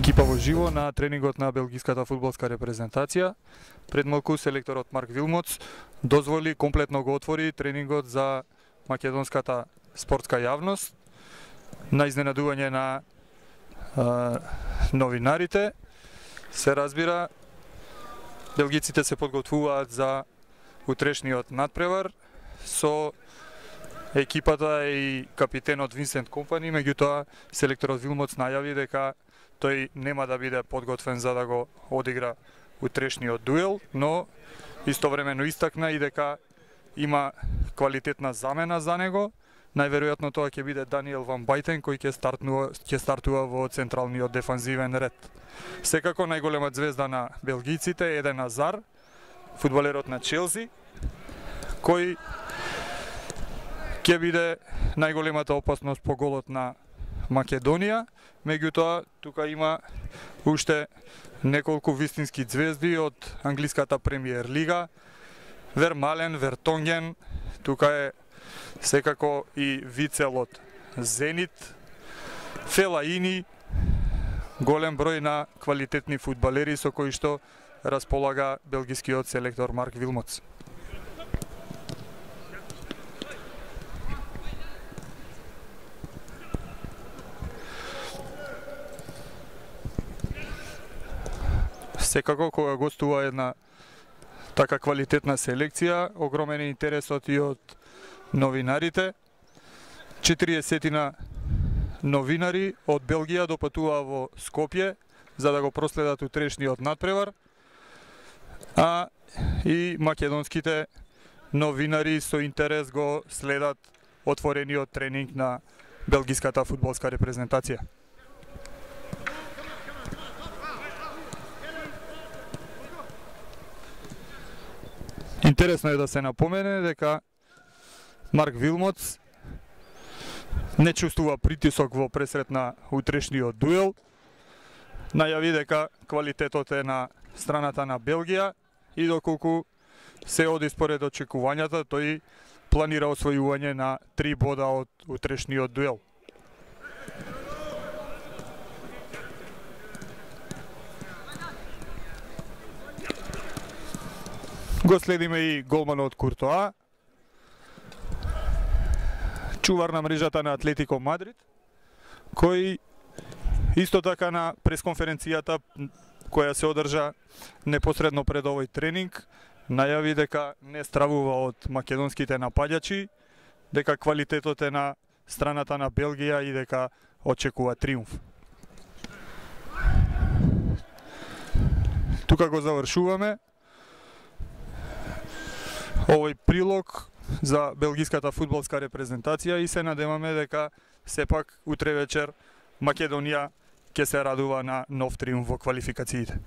Екипа во живо на тренингот на белгиската фудбалска репрезентација. Пред малку селекторот Марк Вилмотс дозволи комплетно го отвори тренингот за македонската спортска јавност на изненадување на новинарите. Се разбира, белгиците се подготвуваат за утрешниот надпревар со екипата и капитенот Винсент Компани, меѓутоа селекторот Вилмотс најави дека тој нема да биде подготвен за да го одигра утрешниот дуел, но истовремено истакна и дека има квалитетна замена за него. Најверојатно тоа ќе биде Даниел Ван Бајтен кој ќе стартува во централниот дефанзивен ред. Секако најголема звезда на белгиците е Еден Азар, фудбалерот на Челси, кој ќе биде најголемата опасност по голот на Македонија, меѓутоа тука има уште неколку вистински звезди од англиската премиер лига. Вермален, Вертонген, тука е секако и Вицел од Зенит, Фелаини, голем број на квалитетни фудбалери со кои што располага белгискиот селектор Марк Вилмотс. Секако кога гостува една така квалитетна селекција, огромен е интересот и од новинарите. 40 новинари од Белгија допатуваа во Скопје за да го проследат утрешниот надпревар, а и македонските новинари со интерес го следат отворениот тренинг на белгиската фудбалска репрезентација. Интересно е да се напомене дека Марк Вилмотс не чувствува притисок во пресрет на утрешниот дуел. Најави дека квалитетот е на страната на Белгија и доколку се оди според очекувањата, тој планира освојување на 3 бода од утрешниот дуел. Го следиме и голманот Куртоа, чувар на мрежата на Атлетико Мадрид, кој исто така на пресконференцијата која се одржа непосредно пред овој тренинг, најави дека не стравува од македонските напаѓачи, дека квалитетот е на страната на Белгија и дека очекува триумф. Тука го завршуваме овој прилог за белгиската фудбалска репрезентација и се надеваме дека сепак утре вечер Македонија ќе се радува на нов триумф во квалификациите.